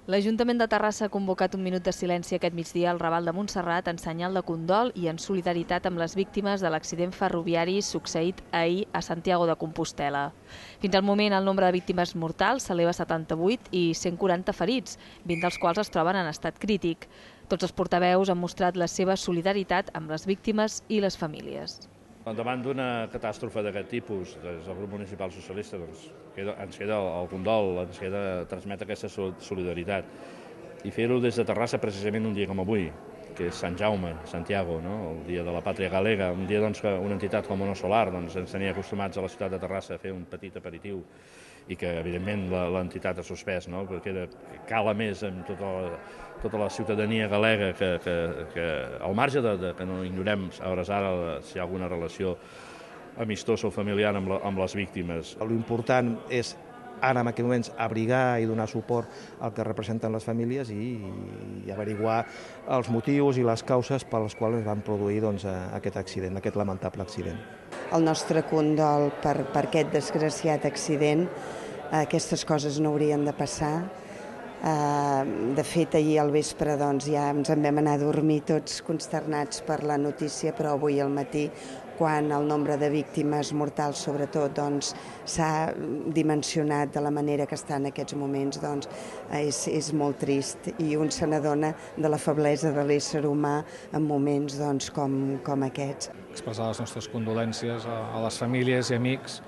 L'Ajuntament de Terrassa ha convocat un minut de silenci aquest migdia al Raval de Montserrat en senyal de condol i en solidaritat amb les víctimes de l'accident ferroviari succeït ahir a Santiago de Compostel·la. Fins al moment, el nombre de víctimes mortals s'eleva a 78 i 140 ferits, 20 dels quals es troben en estat crític. Tots els portaveus han mostrat la seva solidaritat amb les víctimes i les famílies. Davant d'una catàstrofe d'aquest tipus, des del grup municipal socialista ens queda el condol, ens queda transmetre aquesta solidaritat. I fer-ho des de Terrassa precisament un dia com avui, que és Sant Jaume, Santiago, el dia de la pàtria galega, un dia que una entitat com Ono Solar ens tenia acostumats a la ciutat de Terrassa a fer un petit aperitiu i que, evidentment, l'entitat ha suspès, perquè cala més amb tota la ciutadania galega que al marge que no ignorem a hores ara si hi ha alguna relació amistosa o familiar amb les víctimes. L'important és ara en aquests moments abrigar i donar suport al que representen les famílies i averiguar els motius i les causes per les quals es van produir aquest accident, aquest lamentable accident. El nostre condol per aquest desgraciat accident. Aquestes coses no haurien de passar. De fet, ahir al vespre ja ens en vam anar a dormir tots consternats per la notícia, però avui al matí, quan el nombre de víctimes mortals, sobretot, s'ha dimensionat de la manera que està en aquests moments, és molt trist i un se n'adona de la feblesa de l'ésser humà en moments com aquests. Expressar les nostres condolències a les famílies i amics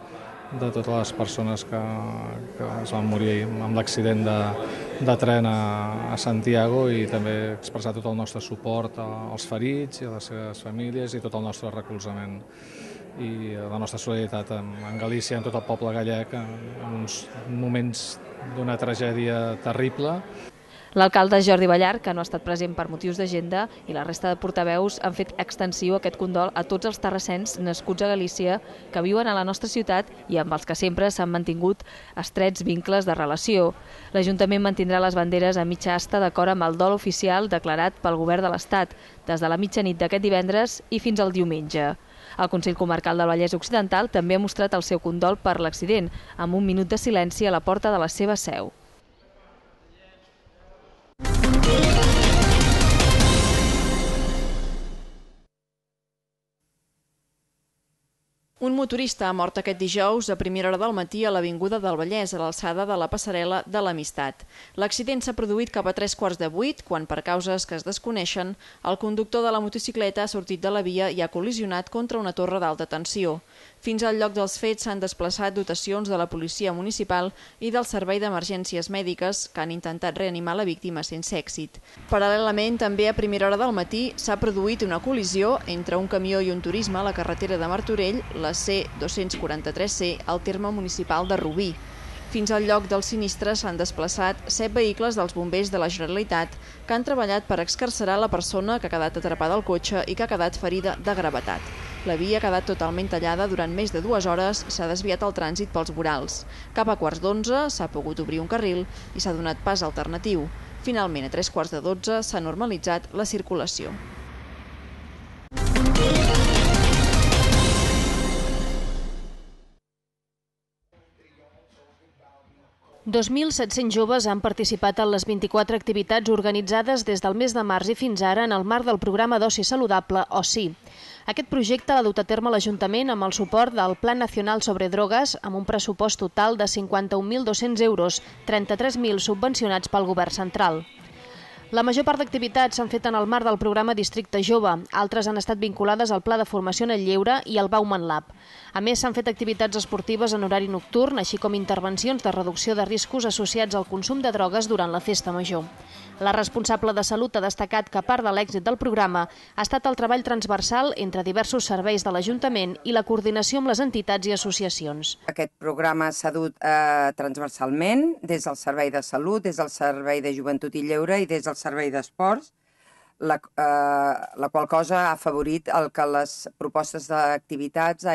de totes les persones que es van morir amb l'accident de tren a Santiago i també expressar tot el nostre suport als ferits i a les seves famílies i tot el nostre recolzament i la nostra solidaritat amb Galícia, amb tot el poble gallec en uns moments d'una tragèdia terrible. L'alcalde Jordi Ballar, que no ha estat present per motius d'agenda, i la resta de portaveus han fet extensiu aquest condol a tots els terrassens nascuts a Galícia que viuen a la nostra ciutat i amb els que sempre s'han mantingut estrets vincles de relació. L'Ajuntament mantindrà les banderes a mitja asta d'acord amb el dol oficial declarat pel Govern de l'Estat des de la mitjanit d'aquest divendres i fins al diumenge. El Consell Comarcal del Vallès Occidental també ha mostrat el seu condol per l'accident, amb un minut de silenci a la porta de la seva seu. Un motorista ha mort aquest dijous a primera hora del matí a l'Avinguda del Vallès, a l'alçada de la passarel·la de l'Amistat. L'accident s'ha produït cap a 7:45, quan, per causes que es desconeixen, el conductor de la motocicleta ha sortit de la via i ha col·lisionat contra una torre d'alta tensió. Fins al lloc dels fets s'han desplaçat dotacions de la policia municipal i del Servei d'Emergències Mèdiques, que han intentat reanimar la víctima sense èxit. Paral·lelament, també a primera hora del matí s'ha produït una col·lisió entre un camió i un turisme a la carretera de Martorell, la C243C, al terme municipal de Rubí. Fins al lloc del sinistre s'han desplaçat 7 vehicles dels bombers de la Generalitat que han treballat per excarcerar la persona que ha quedat atrapada al cotxe i que ha quedat ferida de gravetat. La via ha quedat totalment tallada durant més de 2 hores i s'ha desviat el trànsit pels vorals. Cap a 11:15 s'ha pogut obrir un carril i s'ha donat pas alternatiu. Finalment, a 11:45 s'ha normalitzat la circulació. 2.700 joves han participat en les 24 activitats organitzades des del mes de març i fins ara en el marc del programa d'oci saludable OSI. Aquest projecte l'ha dut a terme l'Ajuntament amb el suport del Pla Nacional sobre Drogues amb un pressupost total de 51.200 euros, 33.000 subvencionats pel Govern central. La major part d'activitats s'han fet en el marc del programa Districte Jove, altres han estat vinculades al Pla de Formació en el Lleure i al Bauman Lab. A més, s'han fet activitats esportives en horari nocturn, així com intervencions de reducció de riscos associats al consum de drogues durant la festa major. La responsable de Salut ha destacat que part de l'èxit del programa ha estat el treball transversal entre diversos serveis de l'Ajuntament i la coordinació amb les entitats i associacions. Aquest programa s'ha dut transversalment des del Servei de Salut, des del Servei de Joventut i Lleure i des del Servei d'Esports, la qual cosa ha afavorit que les propostes d'activitats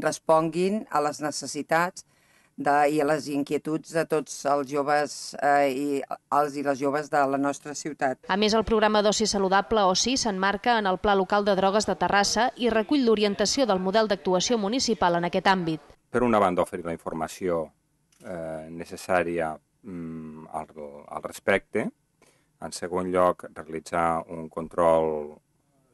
responguin a les necessitats i a les inquietuds de tots els joves i les joves de la nostra ciutat. A més, el programa d'oci saludable OSI s'emmarca en el Pla Local de Drogues de Terrassa i recull l'orientació del model d'actuació municipal en aquest àmbit. Per una banda, oferir la informació necessària al respecte. En segon lloc, realitzar un control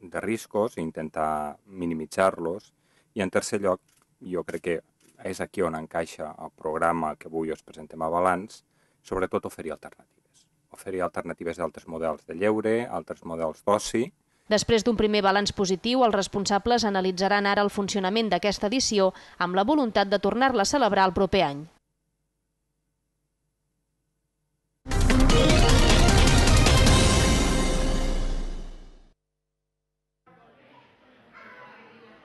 de riscos i intentar minimitzar-los. I en tercer lloc, jo crec que és aquí on encaixa el programa que avui us presentem a balanç, sobretot oferir alternatives. Oferir alternatives d'altres models de lleure, altres models d'oci. Després d'un primer balanç positiu, els responsables analitzaran ara el funcionament d'aquesta edició amb la voluntat de tornar-la a celebrar el proper any.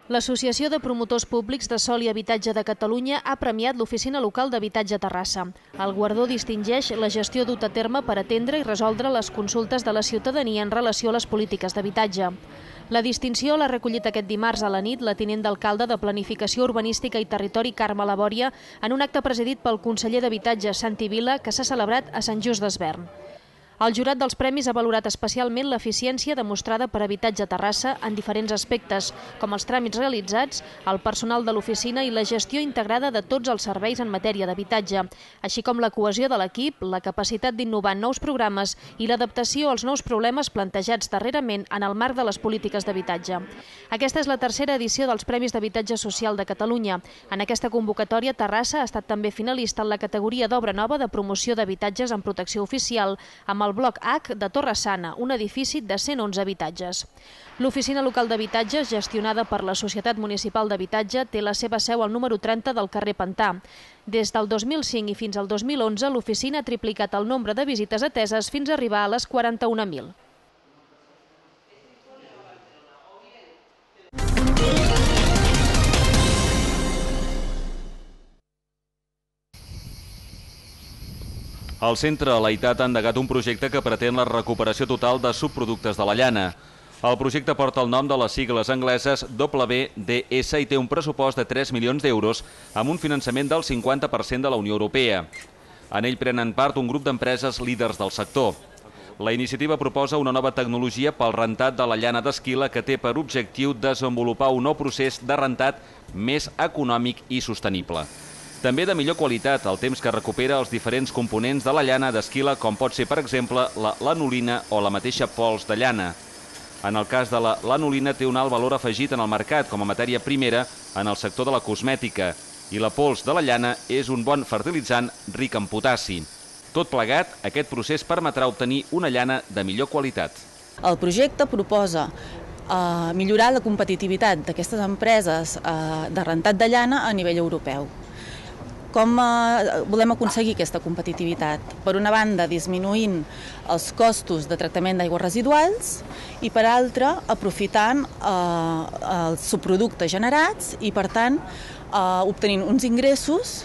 L'Associació de Promotors Públics de Sòl i Habitatge de Catalunya ha premiat l'Oficina Local d'Habitatge Terrassa. El guardó distingeix la gestió duta a terme per atendre i resoldre les consultes de la ciutadania en relació a les polítiques d'habitatge. La distinció l'ha recollit aquest dimarts a la nit la tinent d'alcalde de Planificació Urbanística i Territori, Carme Labòria, en un acte presidit pel conseller d'Habitatge, Santi Vila, que s'ha celebrat a Sant Just Desvern. El jurat dels premis ha valorat especialment l'eficiència demostrada per Habitatge Terrassa en diferents aspectes, com els tràmits realitzats, el personal de l'oficina i la gestió integrada de tots els serveis en matèria d'habitatge, així com la cohesió de l'equip, la capacitat d'innovar en nous programes i l'adaptació als nous problemes plantejats darrerament en el marc de les polítiques d'habitatge. Aquesta és la tercera edició dels Premis d'Habitatge Social de Catalunya. En aquesta convocatòria, Terrassa ha estat també finalista en la categoria d'obra nova de promoció d'habitatges en protecció oficial, amb el bloc H de Torre Sana, un edifici de 111 habitatges. L'Oficina Local d'Habitatges, gestionada per la Societat Municipal d'Habitatge, té la seva seu al número 30 del carrer Pantà. Des del 2005 i fins al 2011, l'oficina ha triplicat el nombre de visites ateses fins a arribar a les 41.000. El Centre Laitat ha endegat un projecte que pretén la recuperació total de subproductes de la llana. El projecte porta el nom de les sigles angleses WDS i té un pressupost de 3 milions d'euros amb un finançament del 50% de la Unió Europea. En ell prenen part un grup d'empreses líders del sector. La iniciativa proposa una nova tecnologia pel rentat de la llana d'esquila que té per objectiu desenvolupar un nou procés de rentat més econòmic i sostenible. També de millor qualitat, el temps que recupera els diferents components de la llana d'esquila, com pot ser, per exemple, la lanolina o la mateixa pols de llana. En el cas de la lanolina té un alt valor afegit en el mercat com a matèria primera en el sector de la cosmètica i la pols de la llana és un bon fertilitzant ric en potassi. Tot plegat, aquest procés permetrà obtenir una llana de millor qualitat. El projecte proposa millorar la competitivitat d'aquestes empreses de rentat de llana a nivell europeu. Com volem aconseguir aquesta competitivitat? Per una banda, disminuint els costos de tractament d'aigües residuals i, per altra, aprofitant els subproductes generats i, per tant, obtenint uns ingressos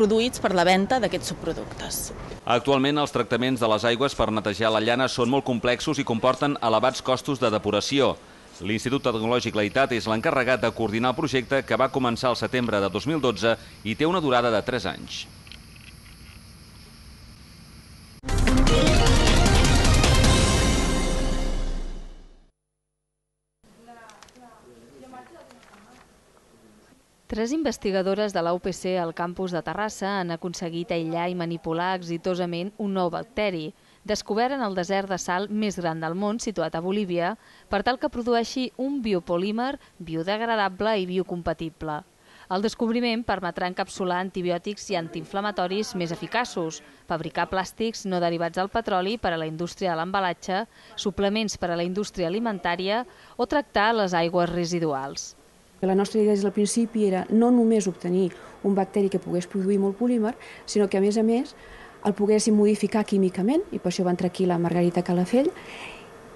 produïts per la venda d'aquests subproductes. Actualment, els tractaments de les aigües per netejar la llana són molt complexos i comporten elevats costos de depuració. L'Institut Tecnològic Laitat és l'encarregat de coordinar el projecte que va començar al setembre de 2012 i té una durada de 3 anys. Tres investigadores de la UPC al campus de Terrassa han aconseguit aïllar i manipular exitosament un nou bacteri, descobert en el desert de sal més gran del món, situat a Bolívia, per tal que produeixi un biopolímer biodegradable i biocompatible. El descobriment permetrà encapsular antibiòtics i antiinflamatoris més eficaços, fabricar plàstics no derivats del petroli per a la indústria de l'embalatge, suplements per a la indústria alimentària o tractar les aigües residuals. La nostra idea des del principi era no només obtenir un bacteri que pogués produir molt polímer, sinó que, a més, el poguéssim modificar químicament, i per això va entrar aquí la Margarita Calafell,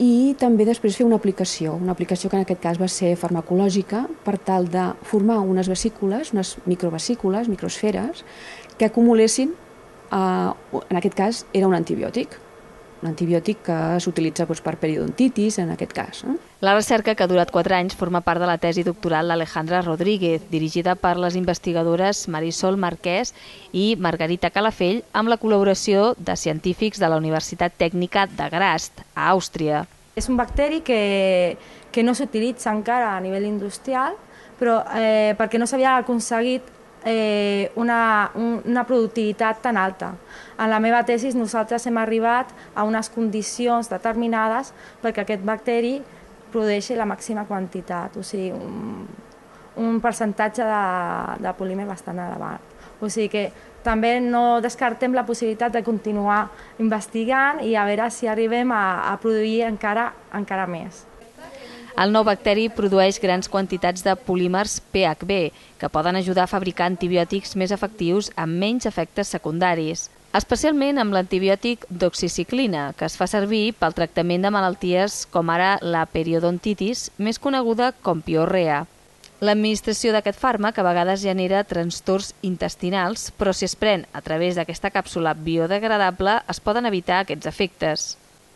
i també després fer una aplicació que en aquest cas va ser farmacològica, per tal de formar unes vesícules, unes microvesícules, microsferes, que acumulessin, en aquest cas era un antibiòtic que s'utilitza per periodontitis, en aquest cas. La recerca, que ha durat 4 anys, forma part de la tesi doctoral d'Alejandra Rodríguez, dirigida per les investigadores Marisol Marquès i Margarita Calafell, amb la col·laboració de científics de la Universitat Tècnica de Graz, a Àustria. És un bacteri que no s'utilitza encara a nivell industrial, però perquè no s'havia aconseguit una productivitat tan alta. En la meva tesi nosaltres hem arribat a unes condicions determinades perquè aquest bacteri produeixi la màxima quantitat, o sigui, un percentatge de polímer bastant elevat. O sigui que també no descartem la possibilitat de continuar investigant i a veure si arribem a produir encara més. El nou bacteri produeix grans quantitats de polímers PHB, que poden ajudar a fabricar antibiòtics més efectius amb menys efectes secundaris, especialment amb l'antibiòtic doxiciclina, que es fa servir pel tractament de malalties com ara la periodontitis, més coneguda com piorrea. L'administració d'aquest fàrmac a vegades genera trastorns intestinals, però si es pren a través d'aquesta càpsula biodegradable es poden evitar aquests efectes.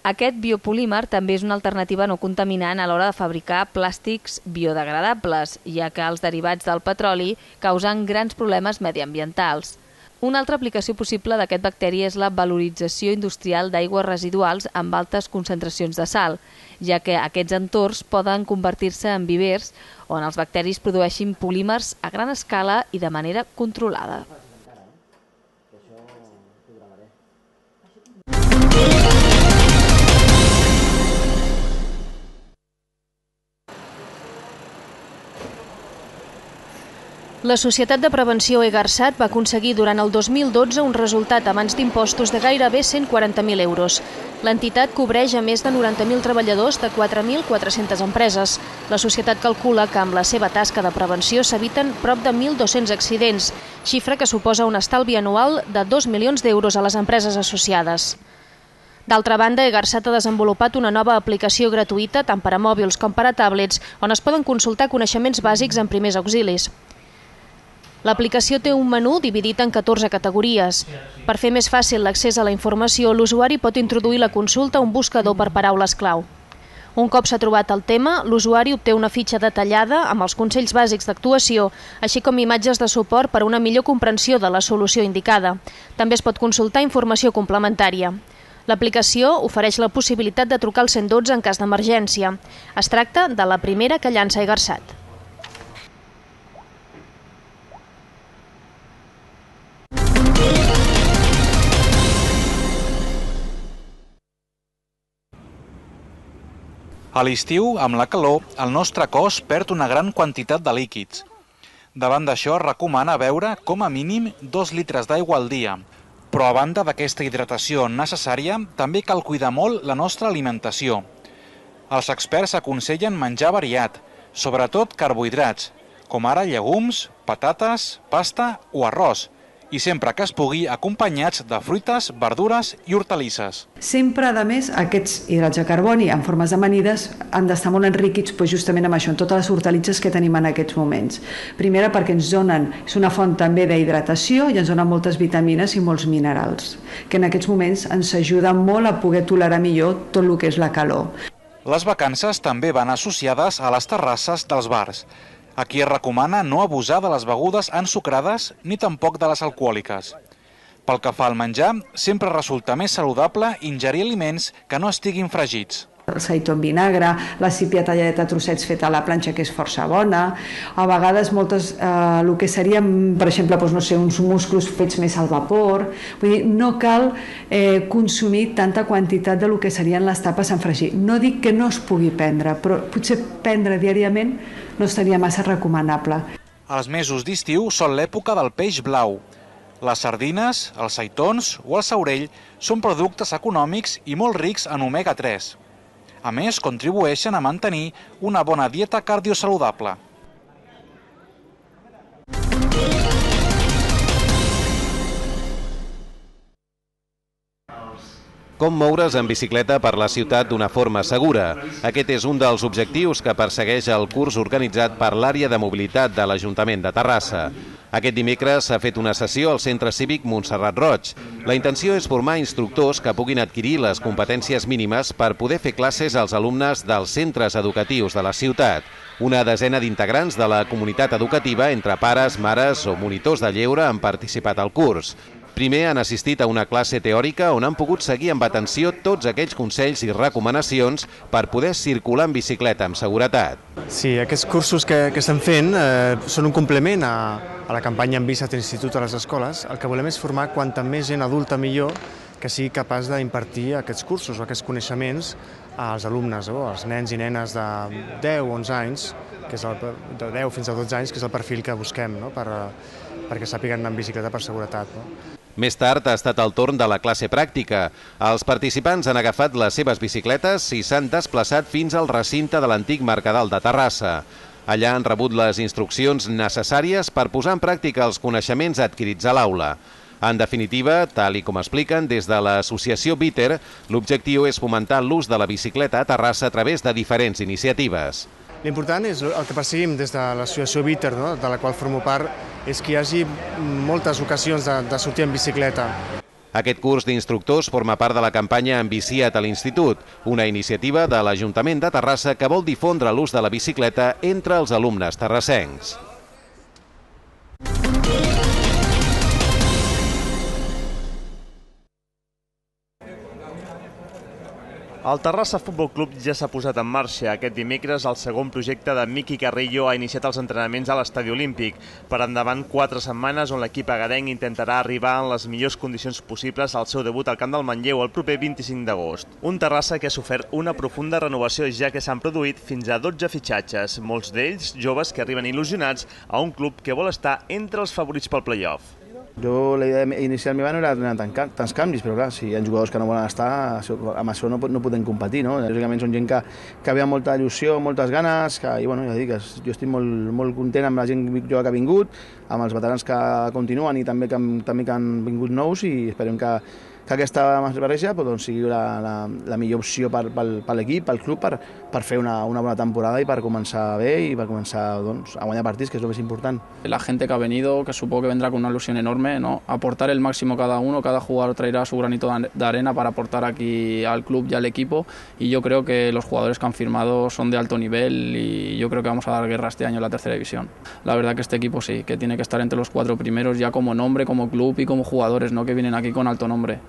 Aquest biopolímer també és una alternativa no contaminant a l'hora de fabricar plàstics biodegradables, ja que els derivats del petroli causen grans problemes mediambientals. Una altra aplicació possible d'aquest bacteri és la valorització industrial d'aigües residuals amb altes concentracions de sal, ja que aquests entorns poden convertir-se en vivers on els bacteris produeixin polímers a gran escala i de manera controlada. La Societat de Prevenció EGARSAT va aconseguir durant el 2012 un resultat abans d'impostos de gairebé 140.000 euros. L'entitat cobreix a més de 90.000 treballadors de 4.400 empreses. La societat calcula que amb la seva tasca de prevenció s'eviten prop de 1.200 accidents, xifra que suposa un estalvi anual de 2 milions d'euros a les empreses associades. D'altra banda, EGARSAT ha desenvolupat una nova aplicació gratuïta tant per a mòbils com per a tablets on es poden consultar coneixements bàsics en primers auxilis. L'aplicació té un menú dividit en 14 categories. Per fer més fàcil l'accés a la informació, l'usuari pot introduir la consulta a un buscador per paraules clau. Un cop s'ha trobat el tema, l'usuari obté una fitxa detallada amb els consells bàsics d'actuació, així com imatges de suport per a una millor comprensió de la solució indicada. També es pot consultar informació complementària. L'aplicació ofereix la possibilitat de trucar al 112 en cas d'emergència. Es tracta de la primera que llança EGARSAT. A l'estiu, amb la calor, el nostre cos perd una gran quantitat de líquids. Davant d'això, es recomana beure com a mínim 2 litres d'aigua al dia. Però a banda d'aquesta hidratació necessària, també cal cuidar molt la nostra alimentació. Els experts aconsellen menjar variat, sobretot carbohidrats, com ara llegums, patates, pasta o arròs, i sempre que es pugui acompanyats de fruites, verdures i hortalisses. Sempre, a més, aquests hidrats de carboni en formes d'amanides han d'estar molt enriquits justament amb això, en totes les hortalisses que tenim en aquests moments. Primera, perquè ens donen, és una font també d'hidratació i ens donen moltes vitamines i molts minerals, que en aquests moments ens ajuden molt a poder tolerar millor tot el que és la calor. Les vacances també van associades a les terrasses dels bars. Aquí es recomana no abusar de les begudes ensucrades ni tampoc de les alcohòliques. Pel que fa al menjar, sempre resulta més saludable ingerir aliments que no estiguin fregits. El seitó en vinagre, la sípia talladeta a trossets feta a la planxa, que és força bona. A vegades moltes, el que serien, per exemple, uns musclos fets més al vapor. Vull dir, no cal consumir tanta quantitat del que serien les tapes en fregir. No dic que no es pugui prendre, però potser prendre diàriament no estaria massa recomanable. Els mesos d'estiu són l'època del peix blau. Les sardines, els seitons o el saurell són productes econòmics i molt rics en omega-3. A més, contribueixen a mantenir una bona dieta cardiosaludable. Com moure's en bicicleta per la ciutat d'una forma segura? Aquest és un dels objectius que persegueix el curs organitzat per l'àrea de mobilitat de l'Ajuntament de Terrassa. Aquest dimecres s'ha fet una sessió al Centre Cívic Montserrat Roig. La intenció és formar instructors que puguin adquirir les competències mínimes per poder fer classes als alumnes dels centres educatius de la ciutat. Una desena d'integrants de la comunitat educativa, entre pares, mares o monitors de lleure, han participat al curs. Primer han assistit a una classe teòrica on han pogut seguir amb atenció tots aquells consells i recomanacions per poder circular en bicicleta amb seguretat. Sí, aquests cursos que estem fent són un complement a a la campanya En bici a l'institut a les escoles, el que volem és formar quanta més gent adulta millor que sigui capaç d'impartir aquests cursos o aquests coneixements als alumnes, als nens i nenes de 10 o 11 anys, que és de 10 fins a 12 anys, que és el perfil que busquem perquè sàpiguen anar en bicicleta per seguretat. Més tard ha estat el torn de la classe pràctica. Els participants han agafat les seves bicicletes i s'han desplaçat fins al recinte de l'antic Mercadal de Terrassa. Allà han rebut les instruccions necessàries per posar en pràctica els coneixements adquirits a l'aula. En definitiva, tal i com expliquen des de l'associació Bitter, l'objectiu és fomentar l'ús de la bicicleta a Terrassa a través de diferents iniciatives. L'important és el que perseguim des de l'associació Bitter, de la qual formo part, és que hi hagi moltes ocasions de sortir en bicicleta. Aquest curs d'instructors forma part de la campanya Envicia't a l'Institut, una iniciativa de l'Ajuntament de Terrassa que vol difondre l'ús de la bicicleta entre els alumnes terrassencs. El Terrassa Futbol Club ja s'ha posat en marxa. Aquest dimecres el segon projecte de Miqui Carrillo ha iniciat els entrenaments a l'Estadi Olímpic. Per endavant 4 setmanes on l'equip agarenc intentarà arribar en les millors condicions possibles al seu debut al Camp del Manlleu el proper 25 d'agost. Un Terrassa que ha sofert una profunda renovació ja que s'han produït fins a 12 fitxatges, molts d'ells joves que arriben il·lusionats a un club que vol estar entre els favorits pel play-off. La idea inicial meva no era donar tants canvis, però clar, si hi ha jugadors que no volen estar, amb això no podem competir, no? Lògicament són gent que ve amb molta il·lusió, moltes ganes, i bueno, ja dic, jo estic molt content amb la gent jove que ha vingut, amb els veterans que continuen i també que han vingut nous i esperem que aquesta barreja sigui la millor opció per l'equip, pel club, per fer una bona temporada y per començar bé i per començar a guanyar partits, que es lo más importante. La gente que ha venido, que supongo que vendrá con una ilusión enorme, ¿no? Aportar el máximo cada uno, cada jugador traerá su granito de arena para aportar aquí al club y al equipo, y yo creo que los jugadores que han firmado son de alto nivel y yo creo que vamos a dar guerra este año en la tercera división. La verdad que este equipo sí, que tiene que estar entre los 4 primeros ya como nombre, como club y como jugadores, ¿no? Que vienen aquí con alto nombre.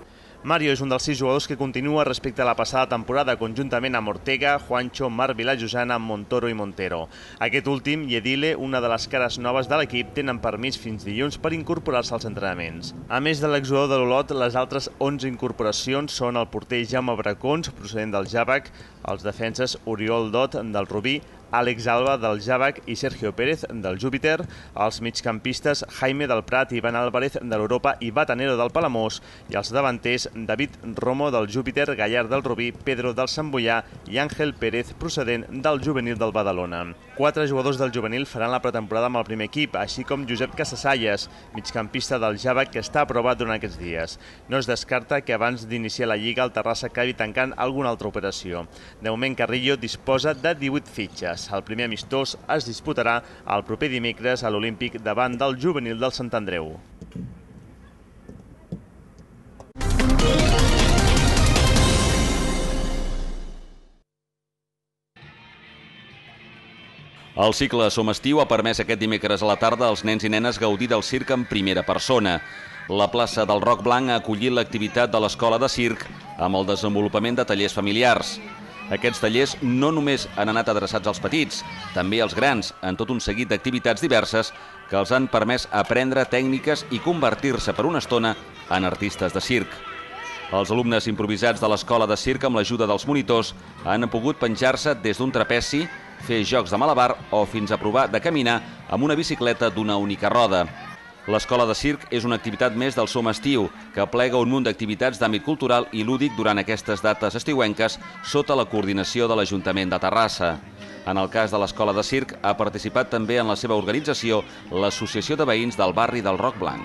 Mario és un dels 6 jugadors que continua respecte a la passada temporada, conjuntament amb Ortega, Juancho, Marc Vilajosana, Montoro i Montero. Aquest últim i Edile, una de les cares noves de l'equip, tenen permís fins dilluns per incorporar-se als entrenaments. A més de l'exjugador de l'Olot, les altres 11 incorporacions són el porter Jaume Bracons, procedent del Javac, els defenses Oriol Dot, del Rubí, Àlex Alba, del Javac, i Sergio Pérez, del Júpiter, els migcampistes Jaime del Prat, Ivan Álvarez, de l'Europa i Batanero, del Palamós, i els davanters David Romo, del Júpiter, Gallard, del Rubí, Pedro, del Sant Boià i Àngel Pérez, procedent del juvenil del Badalona. 4 jugadors del juvenil faran la pretemporada amb el primer equip, així com Josep Casasalles, migcampista del Javac, que està aprovat durant aquests dies. No es descarta que abans d'iniciar la Lliga el Terrassa acabi tancant alguna altra operació. De moment, Carrillo disposa de 18 fitxes. El primer amistós es disputarà el proper dimecres a l'Olímpic davant del juvenil del Sant Andreu. El cicle Som Estiu ha permès aquest dimecres a la tarda als nens i nenes gaudir del circ en primera persona. La plaça del Roc Blanc ha acollit l'activitat de l'Escola de Circ amb el desenvolupament de tallers familiars. Aquests tallers no només han anat adreçats als petits, també als grans, en tot un seguit d'activitats diverses que els han permès aprendre tècniques i convertir-se per una estona en artistes de circ. Els alumnes improvisats de l'Escola de Circ, amb l'ajuda dels monitors, han pogut penjar-se des d'un trapeci, fer jocs de malabar o fins a provar de caminar amb una bicicleta d'una única roda. L'Escola de Circ és una activitat més del Som Estiu, que aplega un munt d'activitats d'àmbit cultural i lúdic durant aquestes dates estiuenques sota la coordinació de l'Ajuntament de Terrassa. En el cas de l'Escola de Circ, ha participat també en la seva organització l'Associació de Veïns del barri del Roc Blanc.